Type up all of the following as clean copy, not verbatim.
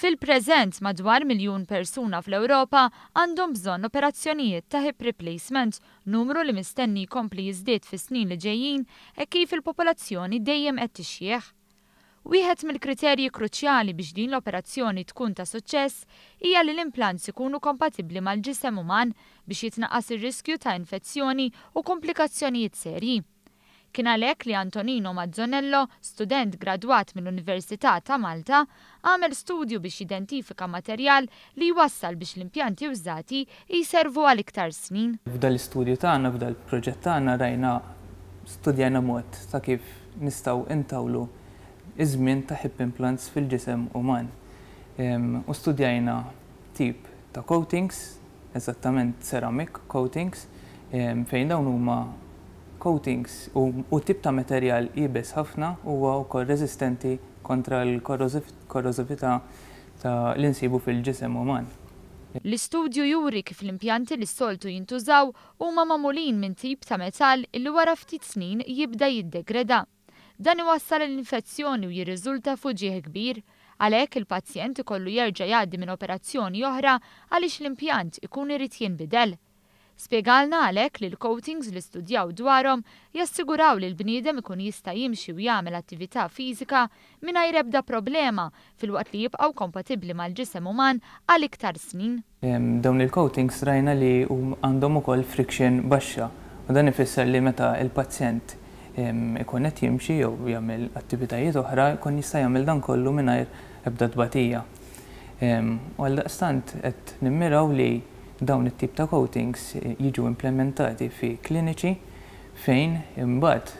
Fil-preżent, madwar 1,000,000 persuna fl-Ewropa għandhom bżonn operazzjonijiet ta' hip replacement, numru li mistenni jkompli jiżdied fis-snin li ġejjin hekk kif il-popolazzjoni dejjem qed tixjieħ. Wieħed mill-kriterji kruċjali biex din l-operazzjoni tkun ta' suċċess hija li l-implants ikunu kompatibbli mal-ġisem uman biex jitnaqqas ir-riskju ta' infezzjoni u komplikazzjonijiet serji. Kien għalhekk li Antonino Mazzonello, student gradwat mill-Università ta' Malta, għamel studju biex jidentifika materjal li jwassal biex l-impjanti wżati jservu għal iktar snin. F'dan l-istudju tagħna, f'dan il-proġett tagħna rajna, studjajna mod ta' kif nistgħu ntawlu ż-żmien ta' hip implants fil-ġisem uman. U studjajna tip ta' coatings, eżattament ceramic coatings, fejn dawn huma coatings u tip ta' materjal iebes ħafna huwa wkoll reżistenti kontra l-korrożività ta' li nsibu fil-ġisem uman. L-istudju juri kif l-impjanti li s-soltu jintużaw huma magħmulin minn tip ta' metall illi wara ftit snin jibda jiddegreda. Dan iwassal għal infezzjoni u jirriżulta f'uġigħ kbir. Għalhekk il-pazjent ikollu jerġa' jgħaddi minn operazzjoni oħra għaliex l-impjant ikun irid jinbidel. Spjegalna għalhekk li l-coatings li studjaw dwarhom jassiguraw li l-bniedem ikun jista' jimxi u jagħmel attività fiżika mingħajr ebda problema filwaqt li jibqgħu kompatibbli mal-ġisem uman għal iktar snin. Dawn il-coatings rajna li għandhom ukoll friction baxxa u dan ifisser li meta l-pazjent ikun qed jimxi jew jagħmel attivitajiet oħra jkun jista' jagħmel dan kollu mingħajr ebda tbatija. U għaldaqstant qed nimmiraw li dawn it-tip ta' coatings jiġu implementati fi kliniċi fejn imbagħad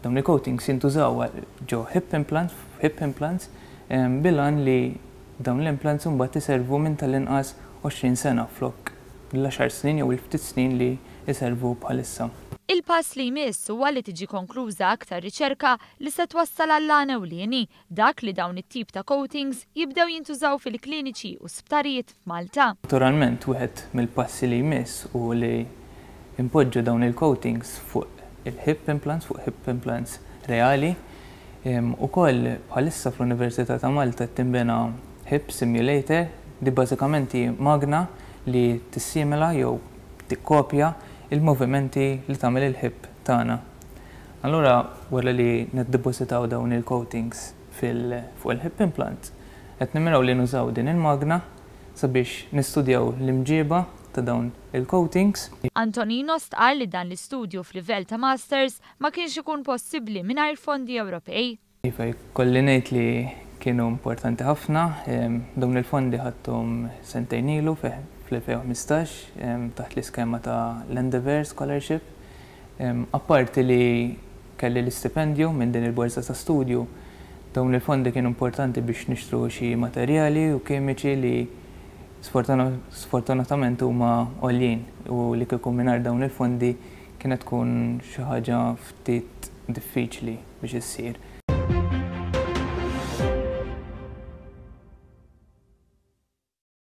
dawn il-coatings jintużaw ġo hip implants, hip implants bil-għan li dawn l-implants imbagħad iservu minn tal-inqas 20 sena flok l-għaxar snin jew il-ftit snin li jservu bħalissa. Il-pass li jmiss huwa li tiġi konkluża aktar riċerka li se twassal għall-għan ewlieni, dak li dawn it-tip ta' coatings jibdew jintużaw fil-kliniċi u sptarijiet f'Malta. Naturalment wieħed mill-passi li jmiss hu li npoġġu dawn il-coatings fuq il-hip implants, fuq hip implants reali. Ukoll bħalissa fl-Università ta' Malta qed tinbena hip simulator, di bażikament hi magna li tissimila jew tikkopja il-movimenti li tagħmel il-hip tagħna. Allura wara li niddepożitaw dawn il-coatings fil fuq il-hip implant, qed nimmiraw li nużaw din il-magna sabiex nistudjaw l-imġieba ta' dawn il-coatings. Antonino stqarr li dan l-istudju f'livell ta' Masters ma kienx ikun possibbli mingħajr fondi Ewropej. Iva, jkolli ngħid li kienu importanti ħafna. Dawn il-fondi ħadthom sentejn ilu fl-2015 taħt l-iskema ta' l-Endeavour Scholarship. Apparti li kelli l-istipendju minn din il-borża ta' studju, dawn il-fondi kienu importanti biex nixtru xi materjali u kimiċi li sfortunatament huma għoljin u li kieku mingħajr dawn il-fondi kienet tkun xi ħaġa ftit diffiċli biex issir.